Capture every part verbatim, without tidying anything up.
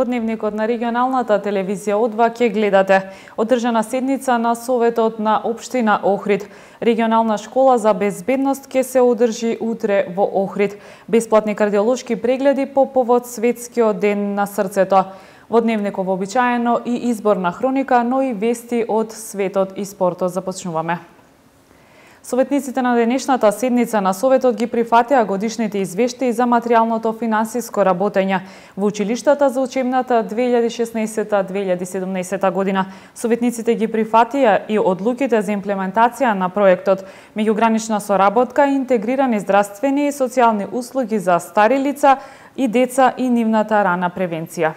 Во дневникот на регионалната телевизија О два ќе гледате одржана седница на Советот на општина Охрид. Регионална школа за безбедност ќе се одржи утре во Охрид. Бесплатни кардиолошки прегледи по повод Светскиот ден на срцето. Во дневникот вообичаено и изборна хроника, но и вести од светот и спортот. Започнуваме. Советниците на денешната седница на Советот ги прифатија годишните извештаи за материјалното финансиско работење во училиштата за учебната две илјади и шеснаесета две илјади и седумнаесета година. Советниците ги прифатија и одлуките за имплементација на проектот меѓугранична соработка и интегрирани здравствени и социјални услуги за стари лица и деца и нивната рана превенција.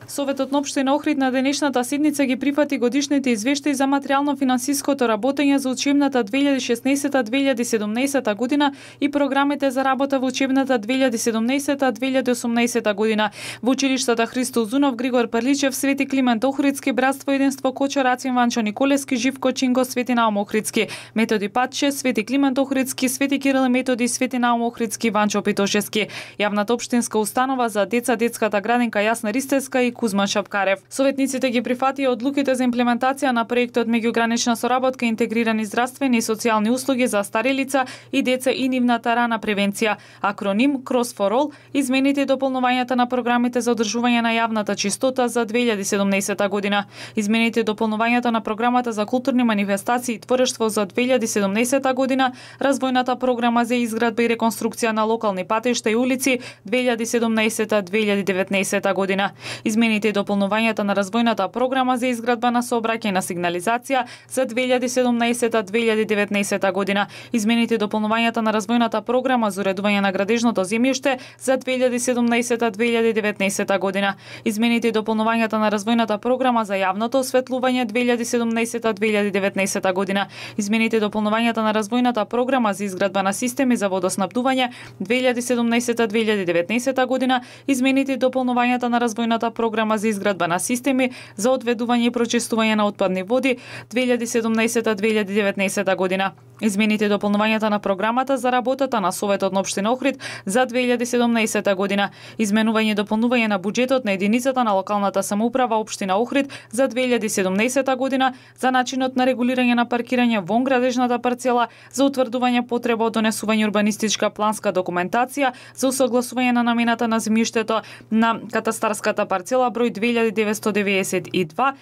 Советот на општина Охрид на денешната седница ги прифати годишните извештаи за материјално-финансиското работење за учебната две илјади и шеснаесета две илјади и седумнаесета година и програмите за работа во учебната две илјади и седумнаесета две илјади и осумнаесета година во училиштата Христо Узунов, Григор Прличев, Свети Климент Охридски, Братство единство Кочо Рацин Ванчо Николевски, Живко Чинго, Свети Наум Охридски, Методи Патче, Свети Климент Охридски, Свети Кирил и Методи, Свети Наум Охридски, Ванчо Питошевски, Јавната општинска установа за деца, детската градинка Јасна Ристевска и Кузман Шапкарев. Советниците ги прифатија одлуките за имплементација на проектот меѓугранична соработка и интегрирани здравствени и социјални услуги за стари лица и деца и нивната рана превенција, акроним Cross for All, измените и дополнувањата на програмите за одржување на јавната чистота за две илјади и седумнаесета година, измените и дополнувањата на програмата за културни манифестации и творештво за две илјади и седумнаесета година, развојната програма за изградба и реконструкција на локални патишта и улици две илјади и седумнаесета две илјади и деветнаесета година, измените и дополнувањата на развојната програма за изградба на сообраќајна сигнализација за две илјади и седумнаесета две илјади и деветнаесета година, измените и дополнувањата на развојната програма за уредување на градежното земјиште за две илјади и седумнаесета две илјади и деветнаесета година, измените и дополнувањата на развојната програма за јавното осветлување две илјади и седумнаесета две илјади и деветнаесета година, измените и дополнувањата на развојната програма за изградба на системи за водоснабдување две илјади и седумнаесета две илјади и деветнаесета година, измените и дополнувањата на развојната програма за изградба на системи за одведување и прочистување на отпадни води две илјади и седумнаесета две илјади и деветнаесета година, измените и дополнувањата на програмата за работата на Советот на општина Охрид за две илјади и седумнаесета година, изменување и дополнување на буџетот на единицата на локалната самоуправа општина Охрид за две илјади и седумнаесета година за начинот на регулирање на паркирање вон градежната парцела, за утврдување потреба од донесување урбанистичка планска документација, за усогласување на намената на земјиштето на катастарската парцела број две илјади деветстотини деведесет и два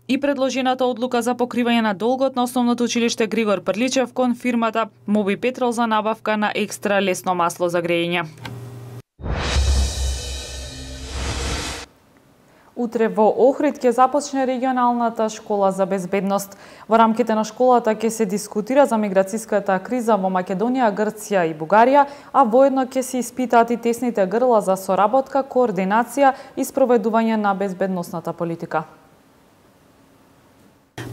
и предложената одлука за покривање на долгот на основното училиште Григор Прличев кон фирмата Моби Петрол за набавка на екстра лесно масло за грејење. Утре во Охрид ќе започне регионалната школа за безбедност. Во рамките на школата ќе се дискутира за миграцијската криза во Македонија, Грција и Бугарија, а воедно ќе се испитаат и тесните грла за соработка, координација и спроведување на безбедносната политика.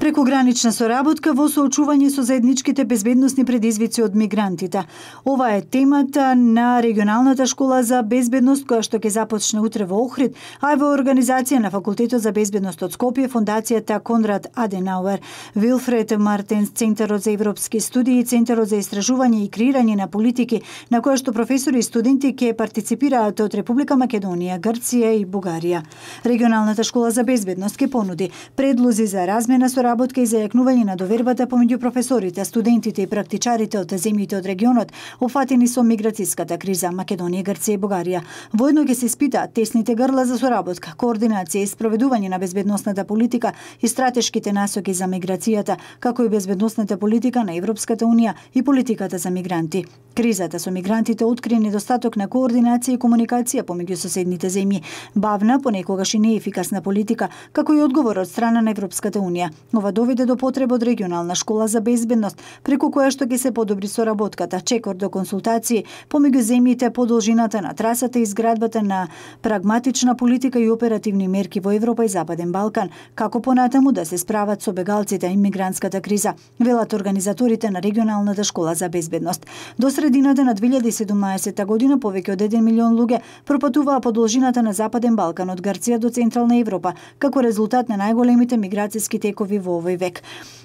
Прекогранична соработка во соочување со заедничките безбедносни предизвици од мигрантите. Ова е темата на регионалната школа за безбедност која што ќе започне утре во Охрид, а е во организација на Факултетот за безбедност од Скопје, Фондацијата Конрад Аденауер, Вилфред Мартенс, Центарот за европски студии, Центарот за истражување и креирање на политики, на која што професори и студенти ќе партиципираат од Република Македонија, Грција и Бугарија. Регионалната школа за безбедност ќе понуди предлози за размена соработка работка и зајакнување на довербата помеѓу професорите, студентите и практичарите од земјите од регионот опфатени со миграцијската криза Македонија, Грција и Бугарија. Воедно ќе се испитаат тесните грла за соработка, координација и спроведување на безбедносната политика и стратешките насоки за миграцијата, како и безбедносната политика на Европската унија и политиката за мигранти. Кризата со мигрантите откри недостаток на координација и комуникација помеѓу соседните земји, бавна, понекогаш и неефикасна политика, како и одговор од страна на Европската унија. Ова доведе до потреба од регионална школа за безбедност, преку која што ќе се подобри соработката, чекор до консултации помеѓу земјите по должината на трасата и изградбата на прагматична политика и оперативни мерки во Европа и Западен Балкан, како понатаму да се справат со бегалците и мигрантската криза, велат организаторите на регионалната школа за безбедност. До средината на две илјади и седумнаесета година повеќе од еден милион луѓе пропатуваа по должината на Западен Балкан од Грција до Централна Европа, како резултат на најголемите миграцијски текови во во овој век.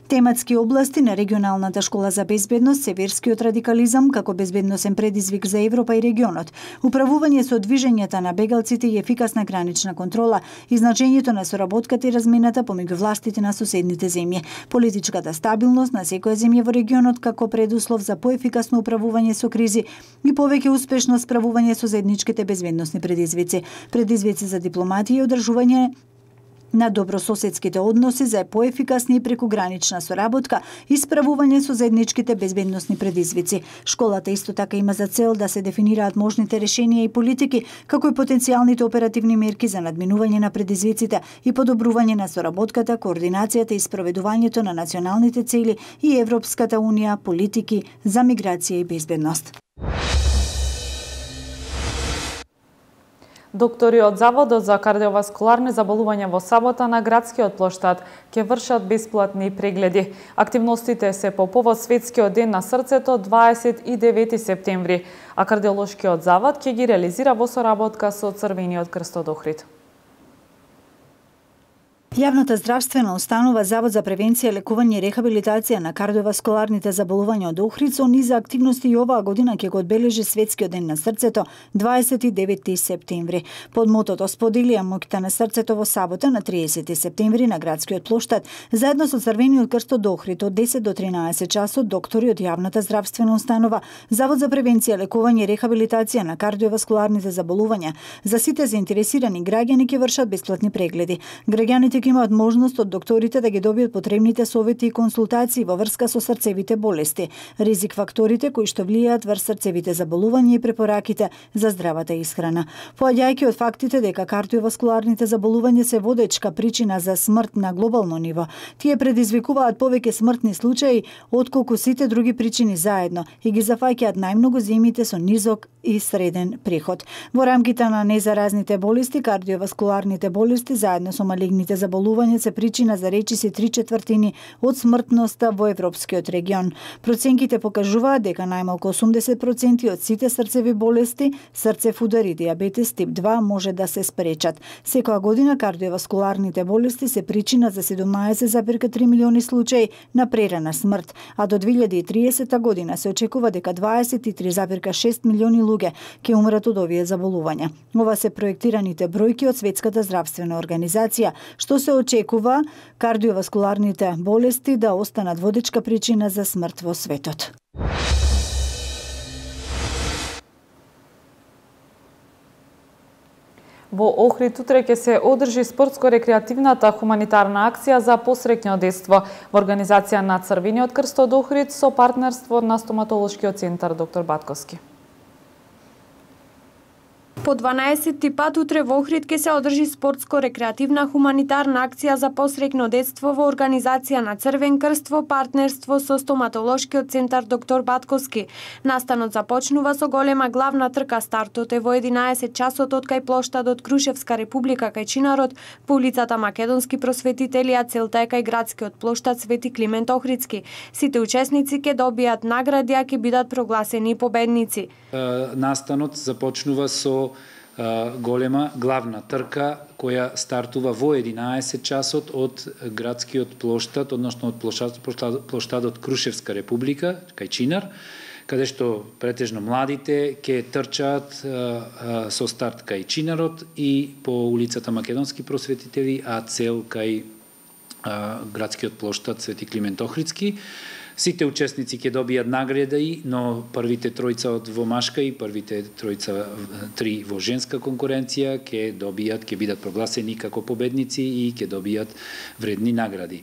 Тематски области на регионалната школа за безбедност се верскиот радикализам како безбедносен предизвик за Европа и регионот, управување со движењата на бегалците и ефикасна гранична контрола и значењето на соработката и размената помеѓу властите на соседните земји, политичката стабилност на секоја земја во регионот како предуслов за поефикасно управување со кризи и повеќе успешно справување со заедничките безбедносни предизвици, предизвици за дипломатија и одржување на добрососедските односи за поефикасна и прекугранична соработка и справување со заедничките безбедносни предизвици. Школата исто така има за цел да се дефинираат можните решенија и политики, како и потенцијалните оперативни мерки за надминување на предизвиците и подобрување на соработката, координацијата и спроведувањето на националните цели и Европската унија политики за миграција и безбедност. Доктори од Заводот за кардиоваскуларни заболувања во сабота на градскиот плоштад ќе вршат бесплатни прегледи. Активностите се по повод Светскиот ден на срцето дваесет и девети септември, а кардиолошкиот завод ќе ги реализира во соработка со Црвениот крст од Охрид. Јавната здравствена установа Завод за превенција, лекување и рехабилитација на кардиоваскуларните заболувања од Охрид со низа активности и оваа година ќе го одбележи Светскиот ден на срцето дваесет и девети септември. Под мотото "Споделија моќта на срцето" во сабота на триесети септември на градскиот плоштад, заедно со Црвениот крст од Охрид од десет до тринаесет часот доктори од Јавната здравствена установа Завод за превенција, лекување и рехабилитација на кардиоваскуларните заболувања за сите заинтересирани граѓани ќе вршат бесплатни прегледи. Граѓаните имаат можност од докторите да ги добијат потребните совети и консултации во врска со срцевите болести, ризик факторите кои што влијаат врз срцевите заболувања и препораките за здравата исхрана. Поаѓајќи од фактите дека кардиоваскуларните заболувања се водечка причина за смрт на глобално ниво, тие предизвикуваат повеќе смртни случаи отколку сите други причини заедно и ги зафаќаат најмногу земјите со низок и среден приход. Во рамките на незаразните болести, кардиоваскуларните болести заедно со малигните заболувања заболување се причина за речиси три четвртини од смртноста во европскиот регион. Проценките покажуваат дека најмалку осумдесет проценти од сите срцеви болести, срцев удар и диабетес тип два може да се спречат. Секоја година кардиоваскуларните болести се причина за седумнаесет зарез три милиони случаи на прерана смрт, а до две илјади и триесета година се очекува дека дваесет и три зарез шест милиони луѓе ќе умрат од овие заболувања. Ова се проектираните бројки од Светската здравствена организација, што се очекува кардиоваскуларните болести да останат водечка причина за смрт во светот. Во Охрид утре ќе се одржи спортско-рекреативната хуманитарна акција за посреќно детство во организација на Црвениот крст од Охрид со партнерство на стоматолошкиот центар доктор Батковски. По дванаесети пат утре во Охрид ќе се одржи спортско-рекреативна хуманитарна акција за посреќно детство во организација на Црвен крст во партнерство со стоматолошкиот центар доктор Батковски. Настанот започнува со голема главна трка. Стартот е во единаесет часот од кај плоштадот Крушевска република кај Чинарот по улицата Македонски просветители, а целта е кај градскиот плоштад Свети Климент Охридски. Сите учесници ќе добијат награди, а ќе бидат прогласени победници. Настанот започнува со голема главна трка која стартува во единаесет часот од градскиот плоштад, односно од плоштад, плоштад, плоштадот Крушевска република кај Чинар, каде што претежно младите ќе трчаат со старт кај Чинарот и по улицата Македонски просветители, а цел кај градскиот плоштад Свети Климент Охридски. Сите учесници ќе добијат награди, но првите тројца од во машка и првите тројца три во женска конкуренција ќе добијат, ќе бидат прогласени како победници и ќе добијат вредни награди.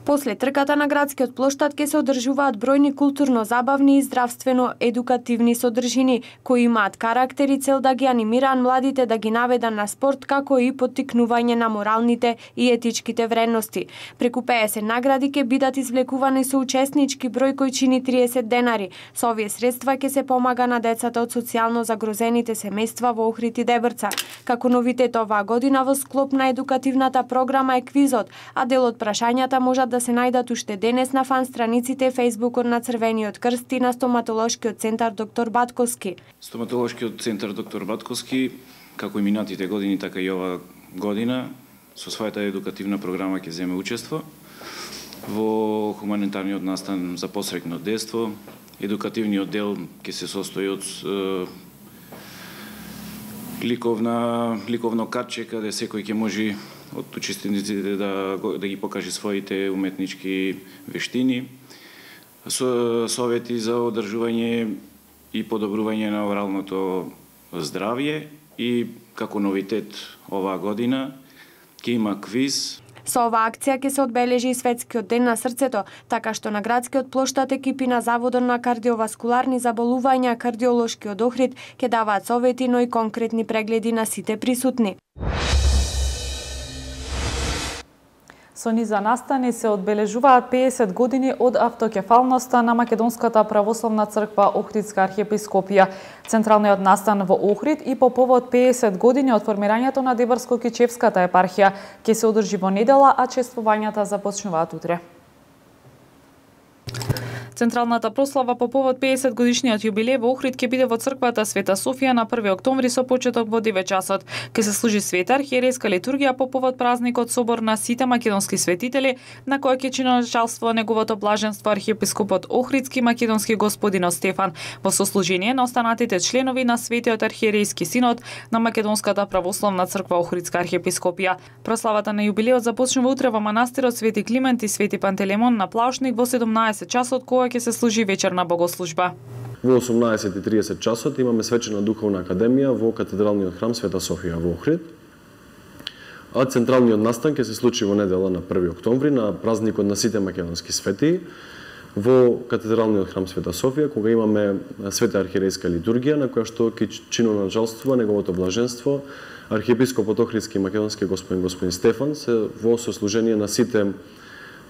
После трката на градскиот плоштад ќе се одржуваат бројни културно-забавни и здравствено-едукативни содржини, кои имаат карактер и цел да ги анимираат младите да ги наведат на спорт, како и поттикнување на моралните и етичките вредности. Преку пеесет награди ќе бидат извлекувани со учеснички број кој чини триесет денари. Со овие средства ќе се помага на децата од социјално загрозените семејства во Охрид и Дебрца. Како новитет оваа година во склоп на едукативната програма е квизот, а дел од прашањата можат да се најдат уште денес на фан страниците Фејсбукот на Црвениот крст и на стоматолошкиот центар доктор Батковски. Стоматолошкиот центар доктор Батковски, како и минатите години, така и ова година, со својата едукативна програма ќе земе учество. Во хуманитарниот настан за посредно детство, едукативниот дел ќе се состои од е, ликовна ликовно картче каде секој ќе може од учесниците да да ги покаже своите уметнички вештини, со совети за одржување и подобрување на оралното здравје и како новитет оваа година ќе има квиз. Со оваа акција ќе се одбележи и Светскиот ден на срцето, така што на градскиот плоштад екипи на Заводот на кардиоваскуларни заболувања, кардиолошкиот Охрид ќе даваат совети, но и конкретни прегледи на сите присутни. Со низа настани се одбележуваат педесет години од автокефалноста на Македонската православна црква Охридска архиепископија. Централниот настан во Охрид и по повод педесет години од формирањето на Дебарско-Кичевската епархија ќе се одржи во недела, а чествувањата започнуваат утре. Централната прослава по повод педесет годишниот јубилеј во Охрид ќе биде во црквата Света Софија на први октомври со почеток во девет часот. Ќе се служи света архиерейска литургија по повод празникот Собор на сите македонски светители, на која ќе чиноначалство неговото блаженство архиепископот Охридски македонски господин Стефан во сослужение на останатите членови на Светиот архиерейски синод на Македонската православна црква Охридска архиепископија. Прославата на јубилеот започнува утре во манастирот Свети Климент и Свети Пантелеймон на Плаушник во седумнаесет часот, кога ќе се служи вечерна богослужба. Во осумнаесет и тридесет часот имаме свечена духовна академија во катедралниот храм Света Софија во Охрид. А централниот настан ќе се случи во недела на први октомври на празникот на сите македонски светии во катедралниот храм Света Софија, кога имаме света архиерейска литургија на која што ќе чиноначалствува неговото блаженство архиепископот Охридски македонски господин господин Стефан се во сослужение на сите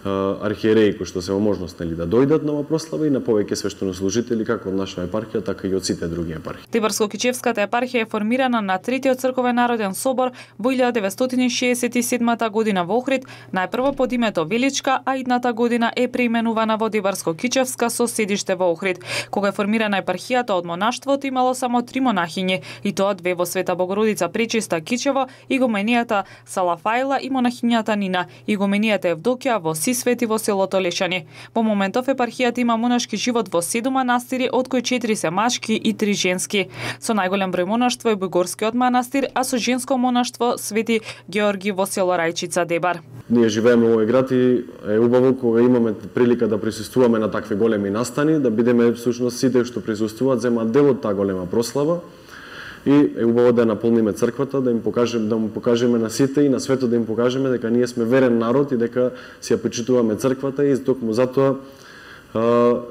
архиереи кои што се во можност нели да дојдат на оваа прослава и на повеќе свештенослужители како од наша епархија, така и од сите други епархии. Дебарско-Кичевската епархија е формирана на третиот црковен народен собор во илјада деветстотини шеесет и седма година во Охрид, најпрво под името Величка, а идната година е преименувана во Дебарско-Кичевска со седиште во Охрид. Кога е формирана епархијата од монаштвото имало само три монахињи, и тоа две во Света Богородица Пречиста Кичево, игуменијата Салафаила и монахињата Нина, игуменијата Евдокија во Свети во селото Лешани. Во моментов епархијата има монашки живот во седум манастири, од кои четири се машки и три женски. Со најголем број монаштво е Бујгорскиот манастир, а со женско монаштво Свети Георги во село Рајчица Дебар. Ние живееме во овој град и е убаво кога имаме прилика да присуствуваме на такви големи настани, да бидеме всушност сите што присуствуваат земаат дел од таа голема прослава. И е убаво да наполниме црквата, да им покажеме, да му покажеме на сите и на светот да им покажеме дека ние сме верен народ и дека си ја почитуваме црквата и токму затоа а,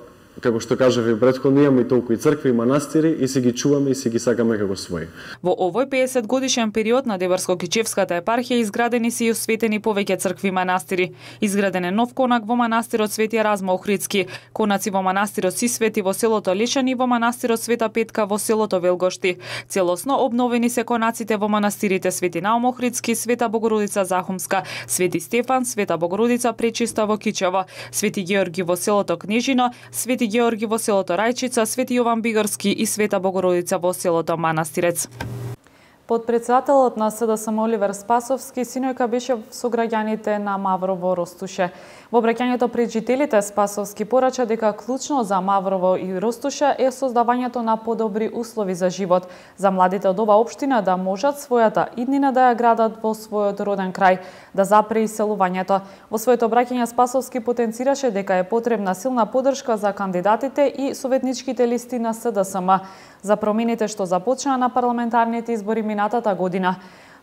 како што кажав и претходно, имаме и толку и цркви и манастири и си ги чуваме и си ги сакаме како своји. Во овој педесет годишен период на Дебарско-Кичевската епархија изградени се и осветени повеќе цркви и манастири. Изграден е нов конак во манастирот Свети Еразма Охридски, конаци во манастирот Сисвети во селото Лешани и во манастирот Света Петка во селото Велгошти. Целосно обновени се конаците во манастирите Свети Наум Охридски, Света Богородица Захумска, Свети Стефан, Света Богородица Пречиста во Кичево, Свети Георги во селото Кнежино, Свети Георги во селото Рајчица, Свети Јован Бигарски и Света Богородица во селото Манастирец. Подпредседателот на СДСМ Оливер Спасовски синојка беше со граѓаните на Маврово Ростуше. Во обраќањето пред жителите Спасовски порача дека клучно за Маврово и Ростуше е создавањето на подобри услови за живот, за младите од оваа општина да можат својата иднина да ја градат во својот роден крај, да запре иселувањето. Во своето обраќање Спасовски потенцираше дека е потребна силна поддршка за кандидатите и советничките листи на СДСМ за промените што започнаа на парламентарните избори минатата година,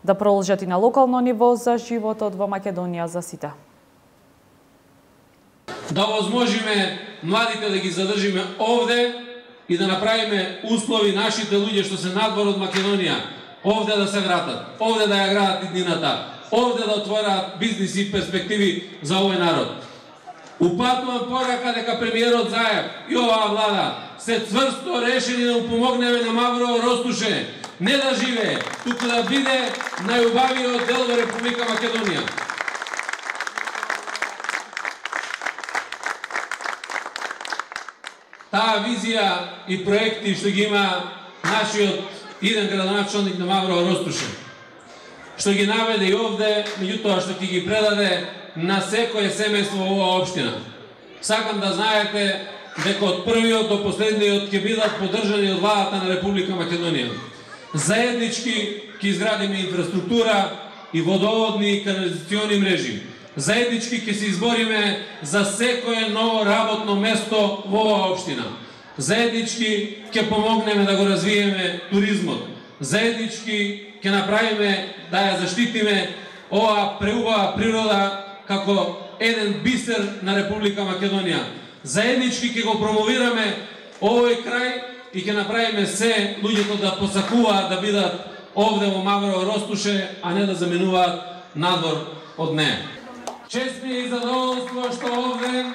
да продолжат и на локално ниво за животот во Македонија за сите. Да возможиме младите да ги задржиме овде и да направиме услови нашите луѓе што се надвор од Македонија овде да се градат, овде да ја градат иднината, овде да отвораат бизниси и перспективи за овој народ. Упатувам порака дека премиерот Заев и оваа влада се цврсто решени да му помогнеме на Маврово Ростуше, не да живее, туку да биде најубавиот дел во Република Македонија. Таа визија и проекти што ги има нашиот иден градоначалник на Маврово Ростуше што ги наведе и овде, меѓутоа што ќе ги предаде на секое семејство во оваа општина. Сакам да знаете дека од првиот до последниот ќе бидат поддржани од владата на Република Македонија. Заеднички ќе изградиме инфраструктура и водоводни и канализациони мрежи. Заеднички ќе се избориме за секое ново работно место во оваа општина. Заеднички ќе помогнеме да го развиеме туризмот. Заеднички ќе направиме да ја заштитиме оваа преубава природа како еден бисер на Република Македонија. Заеднички ќе го промовираме овој крај и ќе направиме се луѓето да посакуваат да бидат овде во Маврово Ростуше, а не да заменуваат надвор од неа. Чест ми е и задоволство што овде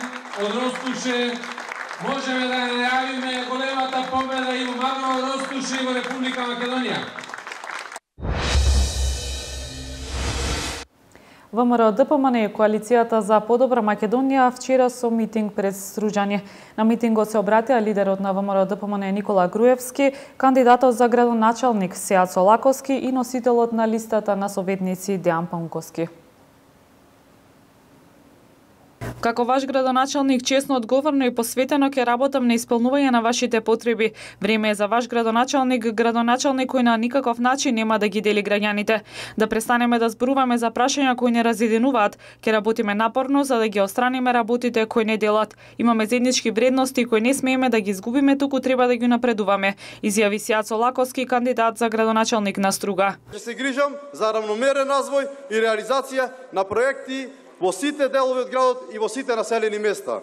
од Ростуше можеме да најавиме големата победа и во Маврово Ростуше и во Република Македонија. ВМРО ДПМН и Коалицијата за подобра Македонија вчера со митинг пред Стружање. На митингот се обратија лидерот на ВМРО ДПМН Никола Груевски, кандидатот за градоначалник Сеат Солаковски и носителот на листата на советници Дејан Паунковски. Како ваш градоначалник, честно, одговорно и посветено ќе работам на исполнување на вашите потреби. Време е за ваш градоначалник, градоначалник кој на никаков начин нема да ги дели граѓаните. Да престанеме да зборуваме за прашања кои не разединуваат. Ќе работиме напорно за да ги отстраниме работите кои не делат. Имаме заеднички вредности кои не смееме да ги изгубиме, туку треба да ги напредуваме, изјави Сеат Солаковски, кандидат за градоначалник на Струга. Ќе се грижам за равномерен развој и реализација на проекти во сите делови од градот и во сите населени места.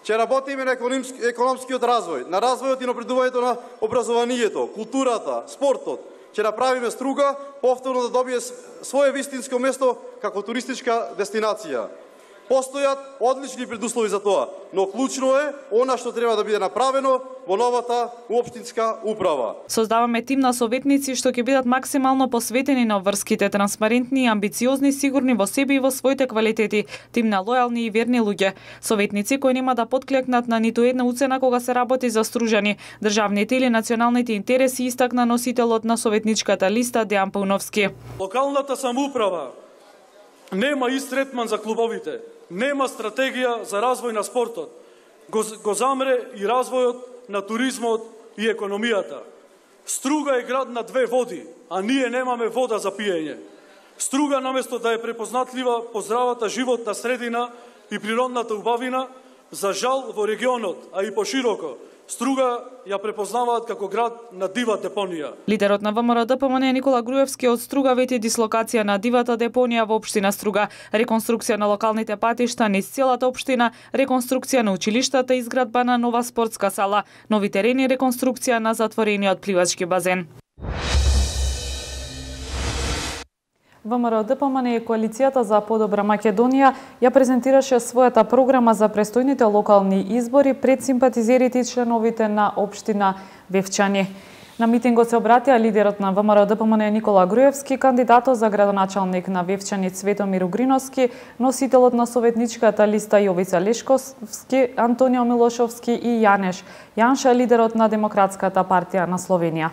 Ќе работиме на економскиот развој, на развојот и напредувањето на образованието, културата, спортот. Ќе направиме Струга повторно да добие свое вистинско место како туристичка дестинација. Постојат одлични предуслови за тоа, но клучно е она што треба да биде направено во новата општинска управа. Создаваме тим на советници што ќе бидат максимално посветени на обврските, транспарентни, амбициозни, сигурни во себе и во своите квалитети, тим на лојални и верни луѓе. Советници кои нема да потклекнат на ниту една уцена кога се работи за Стружани, државните или националните интереси, истакна носителот на советничката листа Дејан Пауновски. Локалната самоуправа нема ист третман за клубовите. Нема стратегија за развој на спортот. Го, го замре и развојот на туризмот и економијата. Струга е град на две води, а ние немаме вода за пиење. Струга, наместо да е препознатлива по здравата животна средина и природната убавина, за жал во регионот, а и пошироко, Струга ја препознаваат како град на дива депонија. Лидерот на ВМРО ДПМН Никола Груевски од Струга вети дислокација на дивата депонија во општина Струга, реконструкција на локалните патишта низ целата општина, реконструкција на училиштата, изградба на нова спортска сала, нови терени, реконструкција на затворениот пливачки базен. ВМРО ДПМН и Коалицијата за подобра Македонија ја презентираше својата програма за престојните локални избори пред симпатизерите и членовите на општина Вевчани. На митингот се обратија лидерот на ВМРО ДПМН Никола Груевски, кандидатот за градоначалник на Вевчани Цветомир Угриновски, носителот на советничката листа Јовица Лешковски, Антонио Милошовски и Јанеш Јанша, лидерот на Демократската партија на Словенија.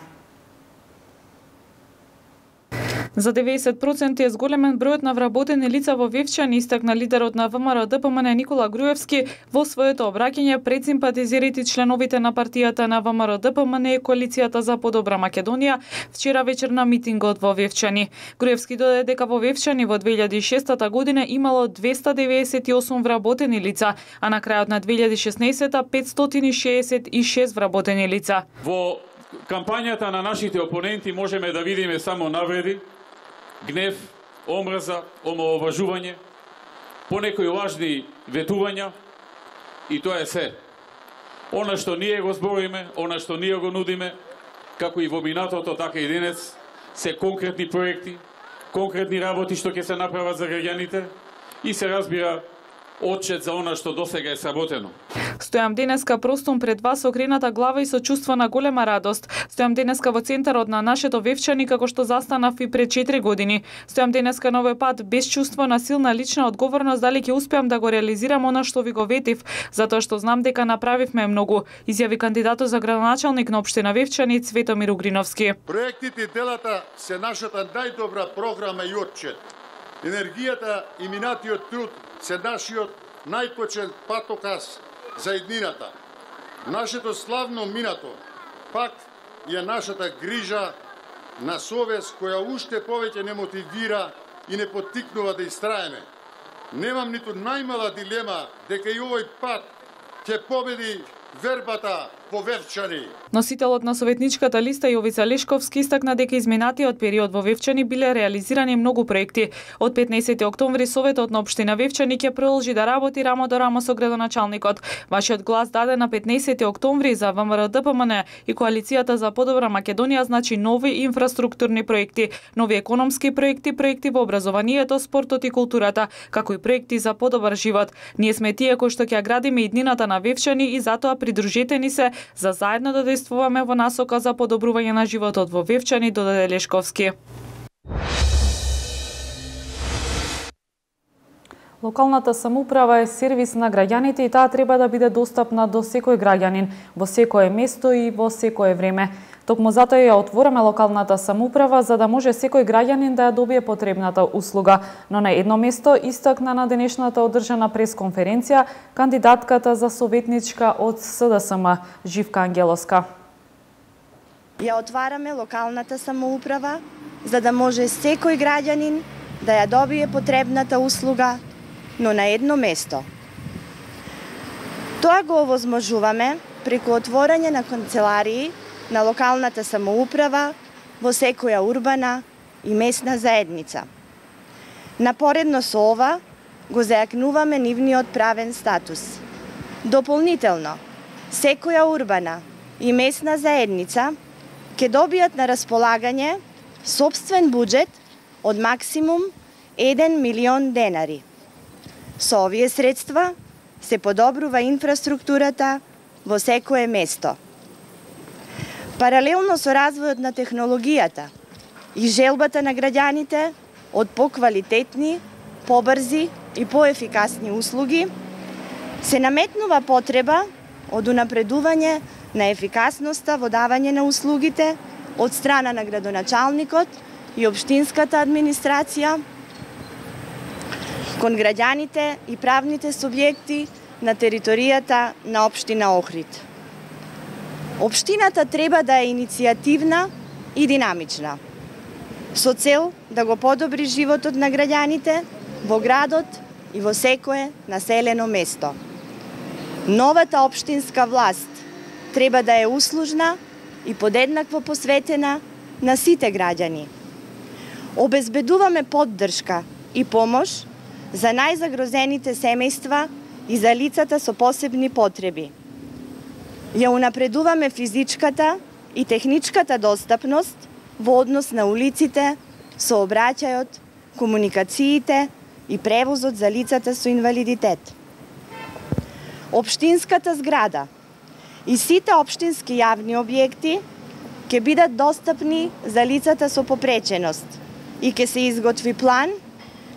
За деветдесет проценти е зголемен бројот на вработени лица во Вевчани, истакна лидерот на ВМРО ДПМН Никола Груевски во своето обраќање пред симпатизерите и членовите на партијата на ВМРО ДПМН и Коалицијата за подобра Македонија вчера вечер на митингот во Вевчани. Груевски додаде дека во Вевчани во две илјади и шеста година имало двесте деветдесет и осум вработени лица, а на крајот на две илјади и шеснаесета петстотини и шеесет и шест вработени лица. Во кампањата на нашите опоненти можеме да видиме само навреди, гнев, омрза, омаловажување, понекои лажни ветувања и тоа е се. Она што ние го збориме, она што ние го нудиме, како и во минатото, така и денес, се конкретни проекти, конкретни работи што ќе се направат за граѓаните и се разбира отчет за она што досега е сработено. Стојам денеска простум пред вас со окрената глава и со чувство на голема радост. Стојам денеска во центарот на нашето Вевчани како што застанав и пред четири години. Стојам денеска на овој пат без чувство на силна лична одговорност дали ќе успеам да го реализирам она што ви го ветив, затоа што знам дека направивме многу, изјави кандидатот за градоначалник на општина Вевчани Цветомир Угриновски. Проектите и делата се нашата најдобра програма и отчет. Енергијата и минатиот труд се нашиот најпочен патоказ за иднината. Нашето славно минато пак е нашата грижа на совест која уште повеќе не мотивира и не поттикнува да истраеме. Немам ниту најмала дилема дека и овој пат ќе победи вербата по Вевчани. Носителот на советничката листа Јовица Лешковски истакна дека изминатиот период во Вевчани биле реализирани многу проекти. Од петнаесети октомври Советот на општина Вевчани ќе продолжи да работи рамо до рамо со градоначалникот. Вашиот глас даден на петнаесети октомври за ВМРО-ДПМН и Коалицијата за подобра Македонија значи нови инфраструктурни проекти, нови економски проекти, проекти во образованието, спортот и културата, како и проекти за подобар живот. Ние сме тие кои што ќе градиме иднината на Вевчани и затоа придружете ни се за заедно да действуваме во насока за подобрување на животот во Вевчани, додаде Лешковски. Локалната самоуправа е сервис на граѓаните и таа треба да биде достапна до секој граѓанин, во секое место и во секое време. Токму затоа ја отвораме локалната самоуправа за да може секој граѓанин да ја добие потребната услуга. Но на едно место истакна на денешната одржана пресконференција кандидатката за советничка од СДСМ Живка Ангелоска. Ја отвараме локалната самоуправа за да може секој граѓанин да ја добие потребната услуга, но на едно место. Тоа го овозможуваме преку отворање на канцеларии на локалната самоуправа во секоја урбана и местна заедница. Напоредно со ова го зајакнуваме нивниот правен статус. Дополнително, секоја урбана и местна заедница ќе добијат на располагање сопствен буџет од максимум еден милион денари. Со овие средства се подобрува инфраструктурата во секое место. Паралелно со развојот на технологијата и желбата на граѓаните од поквалитетни, побрзи и поефикасни услуги, се наметнува потреба од унапредување на ефикасноста во давање на услугите од страна на градоначалникот и општинската администрација кон граѓаните и правните субјекти на територијата на општина Охрид. Општината треба да е иницијативна и динамична, со цел да го подобри животот на граѓаните во градот и во секое населено место. Новата општинска власт треба да е услужна и подеднакво посветена на сите граѓани. Обезбедуваме поддршка и помош за најзагрозените семејства и за лицата со посебни потреби. Ја унапредуваме физичката и техничката достапност во однос на улиците, сообраќајот, комуникациите и превозот за лицата со инвалидитет. Општинската зграда и сите општински јавни објекти ќе бидат достапни за лицата со попреченост и ќе се изготви план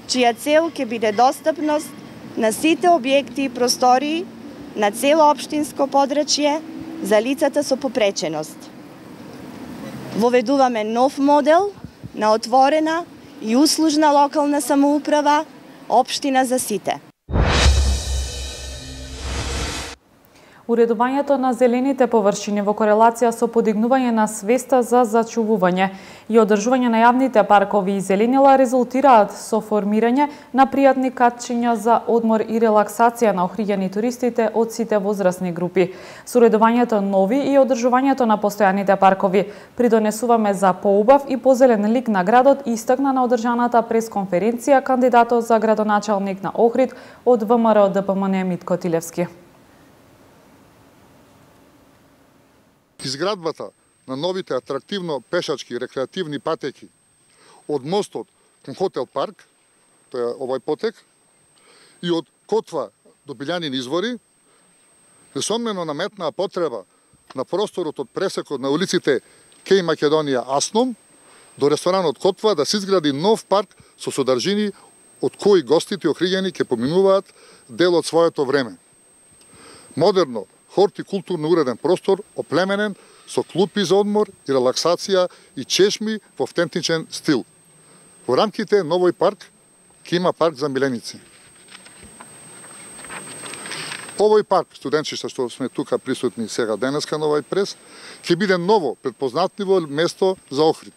чија цел ќе биде достапност на сите објекти и простории на цело општинско подрачје за лицата со попреченост. Воведуваме нов модел на отворена и услужна локална самоуправа, општина за сите. Уредувањето на зелените површини во корелација со подигнување на свеста за зачувување и одржување на јавните паркови и зеленила резултираат со формирање на пријатни катчиња за одмор и релаксација на охриѓани туристите од сите возрастни групи. Со уредувањето нови и одржувањето на постојаните паркови придонесуваме за поубав и позелен лик на градот, истакна на одржаната пресконференција кандидатот за градоначалник на Охрид од ВМРО-ДПМН Митко Тилевски. Изградбата на новите атрактивно пешачки рекреативни патеки од мостот кон хотел парк, тоа е овој потек, и од Котва до Билјанин извори, несомнено наметнаа потреба на просторот од пресекот на улиците Кеј Македонија Асном до ресторанот Котва да се изгради нов парк со содржини од кои гостите охриѓени ќе поминуваат дел од своето време. Модерно, хортикултурно уреден простор, оплеменен со клупи за одмор и релаксација и чешми во автентичен стил. Во рамките на овој парк ќе има парк за миленици. Овој парк, студентчиста што сме тука присутни сега денеска на овој прес, ќе биде ново, предпознатливо место за Охрид.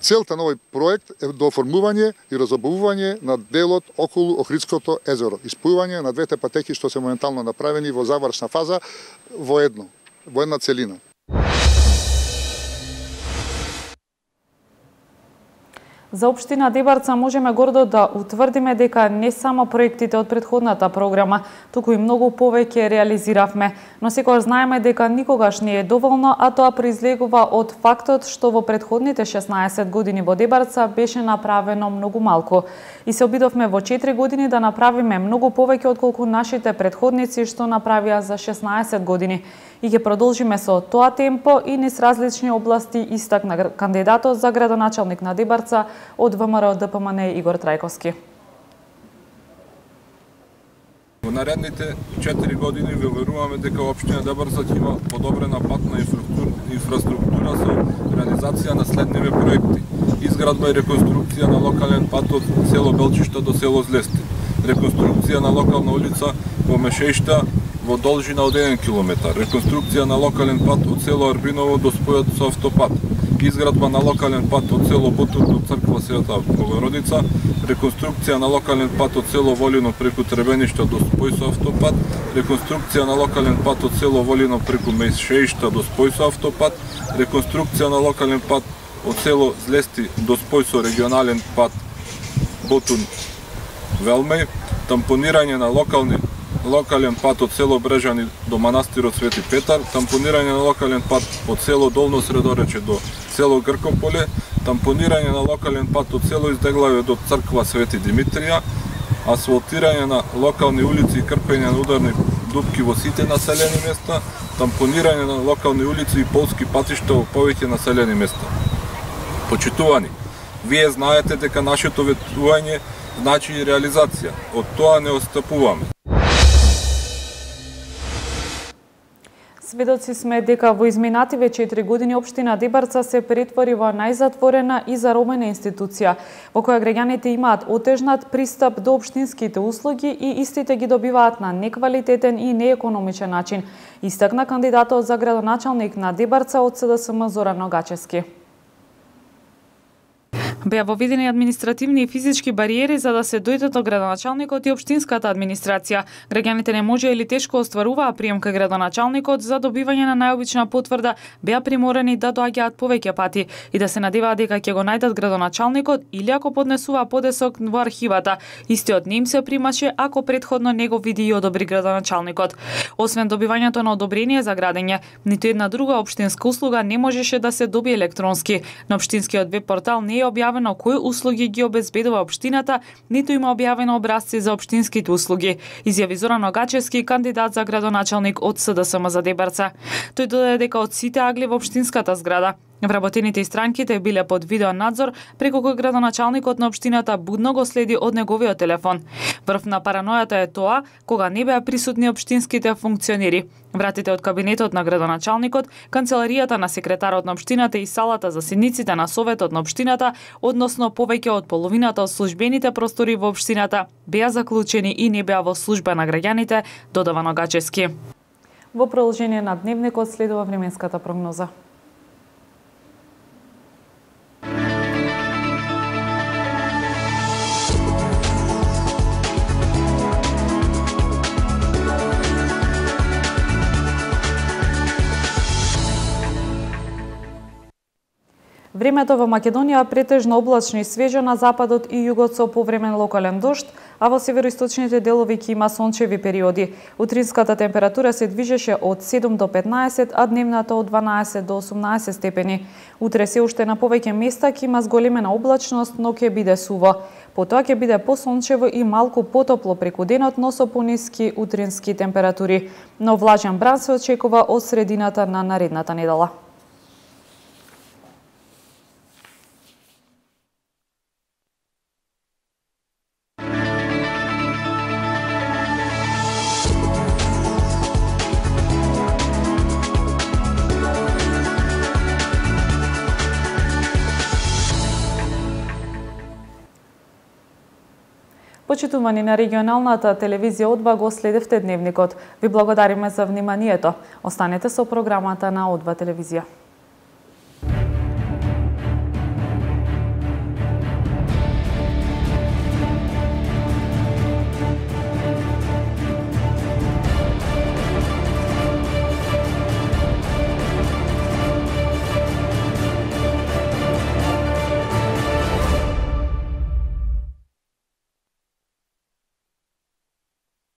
Целта на овој проект е до оформување и разобувување на делот околу Охридското езеро, испојување на двете патеки што се моментално направени во завршна фаза во едно, во една целина. За општина Дебарца можеме гордо да утврдиме дека не само проектите од претходната програма, туку и многу повеќе реализиравме, но секогаш знаеме дека никогаш не е доволно, а тоа произлегува од фактот што во претходните шеснаесет години во Дебарца беше направено многу малку. И се обидовме во четири години да направиме многу повеќе отколку нашите претходници што направија за шеснаесет години. И ќе продолжиме со тоа темпо и низ различни области, истакна кандидатот за градоначалник на Дебарца од ВМРО ДПМН Игор Трајковски. Во наредните четири години ве уверуваме дека општина Дебарца ќе има подобрена патна инфраструктура со реализација на следниве проекти: изградба и реконструкција на локален пат од село Белчишта до село Злести, реконструкција на локална улица во Мешеишта во должина од еден километар, реконструкција на локален пат од село Арбиново до спојот со автопат, изградба на локален пат од село Бутун до црква Света Богородица, реконструкција на локален пат од село Волино преку Требеништа до спој со автопат, реконструкција на локален пат од село Волино преку Мешеишта до спој со автопат, реконструкција на локален пат од село Злести до спој со регионален пат Бутун Велмеј, тампонирање на локални локален пат од село Брежани до манастирот Свети Петар, тампонирање на локален пат од село Долно Средорече до село Гркополе, тампонирање на локален пат од село Издеглаве до црква Свети Димитрија, асфалтирање на локални улици и крпење на ударни дупки во сите населени места, тампонирање на локални улици и полски патишта во повеќе населени места. Почитувани, вие знаете дека нашето ветување значи и реализација. Од тоа не отстапуваме. Сведоци сме дека во изминативе четири години општина Дебарца се претвори во најзатворена и заробена институција, во која граѓаните имаат отежнат пристап до општинските услуги и истите ги добиваат на неквалитетен и неекономичен начин, истакна кандидатот за градоначалник на Дебарца од СДСМ Зоран Ногачевски. Беа воведени административни и физички бариери за да се дојдат до градоначалникот и општинската администрација. Граѓаните не може или тешко остваруваа прием кај градоначалникот, за добивање на најобична потврда беа приморани да доаѓаат повеќе пати и да се надеваат дека ќе го најдат градоначалникот или ако поднесува подесок во архивата. Истиот не им се примаше ако претходно не го види и одобри градоначалникот. Освен добивањето на одобрение за градење, ниту една друга општинска услуга не можеше да се добие електронски. На општинскиот веб портал не е објавено кои услуги ги обезбедува општината, ниту има објавено образци за општинските услуги, изјави Зоран Ногачевски, кандидат за градоначалник од СДСМ за Дебарца. Тој додаде дека од сите агли во општинската зграда вработените и странките биле под видео надзор, преку кој градоначалникот на општината будно го следи од неговиот телефон. Врв на паранојата е тоа кога не беа присутни општинските функционери. Вратите од кабинетот на градоначалникот, канцеларијата на секретарот на општината и салата за седниците на советот на општината, односно повеќе од половината од службените простори во општината, беа заклучени и не беа во служба на граѓаните, додава Ногачевски. Во продолжение на дневникот следува временската прогноза. Времето во Македонија претежно облачно и свежо, на западот и југот со повремен локален дожд, а во североисточните делови ќе има сончеви периоди. Утринската температура се движеше од седум до петнаесет, а дневната од дванаесет до осумнаесет степени. Утре се уште на повеќе места ќе има зголемена облачност, но ќе биде суво. Потоа ќе биде посончево и малку потопло преку денот, но со пониски утрински температури. Но влажен бран се очекува од средината на наредната недела. Почитувани на регионалната телевизија Одва, го следевте дневникот. Ви благодариме за вниманието. Останете со програмата на Одва телевизија.